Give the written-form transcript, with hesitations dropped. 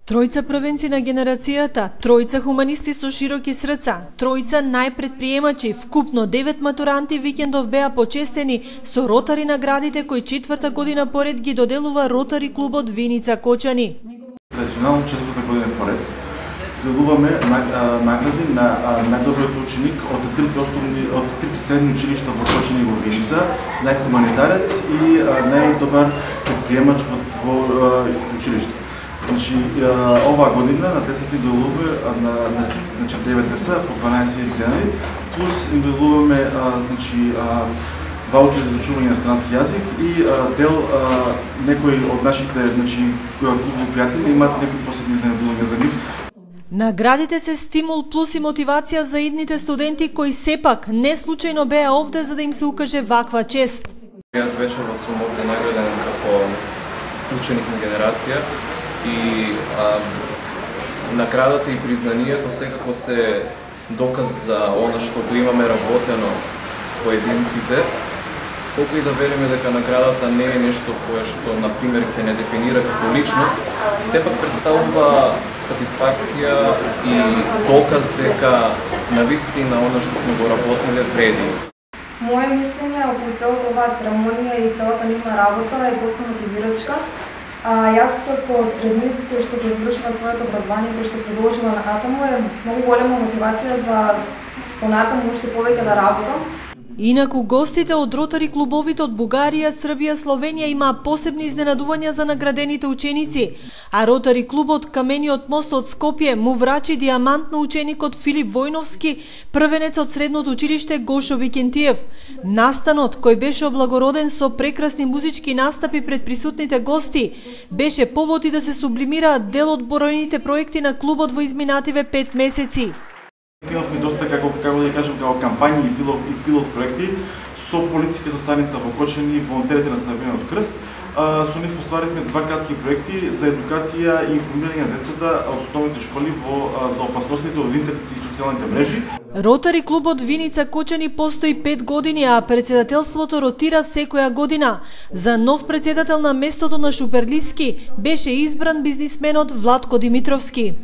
Тројца првенци на генерацијата, тројца хуманисти со широки срца, тројца најпредприемачи, вкупно 9 матуранти викендов беа почестени со Ротари наградите кои четврта година поред ги доделува Ротари клубот Виница Кочани. Традиционално четврта година поред доделуваме награди на најдобриот ученик од трите средни училишта во Кочани во Виница, најхуманитарец и најдобар предприемач во истото училиште. Значи, оваа година на децата им доделуваме на 9 деца по 12 денари, плюс им доделуваме ваучери за учување на странски јазик и дел некои од нашите клубови пријатели имаат некои посебни изненадувања за нив. Наградите се стимул плюс и мотивација за идните студенти кои сепак не случајно беа овде за да им се укаже ваква чест. Јас вечерва сум овде награден како ученик на генерација и наградата и признанието секако се доказ за она што го имаме работено поединците. Колку и да велиме дека наградата не е нешто кое што, например, ќе не дефинира како личност, сепак представува сатисфакција и доказ дека навистина она што сме го работеле вреди. Моje мислење околу целата оваа церемонија и целата нивна работа е доста мотивирачка. Јас како среднист кој што го завршила своето образование, кој што продолжила натаму, е многу голема мотивација за понатаму уште повеќе да работам. Инаку гостите од Ротари клубовите од Бугарија, Србија, Словенија имаа посебни изненадувања за наградените ученици, а Ротари клубот Камениот мост од Скопје му врачи диамант на ученикот Филип Војновски, првенец од средното училиште Гошо Викентиев. Настанот, кој беше облагороден со прекрасни музички настапи пред присутните гости, беше повод и да се сублимираат дел од бројните проекти на клубот во изминативе 5 месеци. Имавме доста, како да кажем, како кампањи и пилот проекти со полицијската станица во Кочани и волонтерите на Црвениот крст. Со нив остваривме 2 кратки проекти за едукација и информирање на децата од основните школи за опасностите од интернет и социјалните мрежи. Ротари клубот Виница Кочани постои 5 години, а председателството ротира секоја година. За нов председател на местото на Шуперлиски беше избран бизнисменот Владко Димитровски.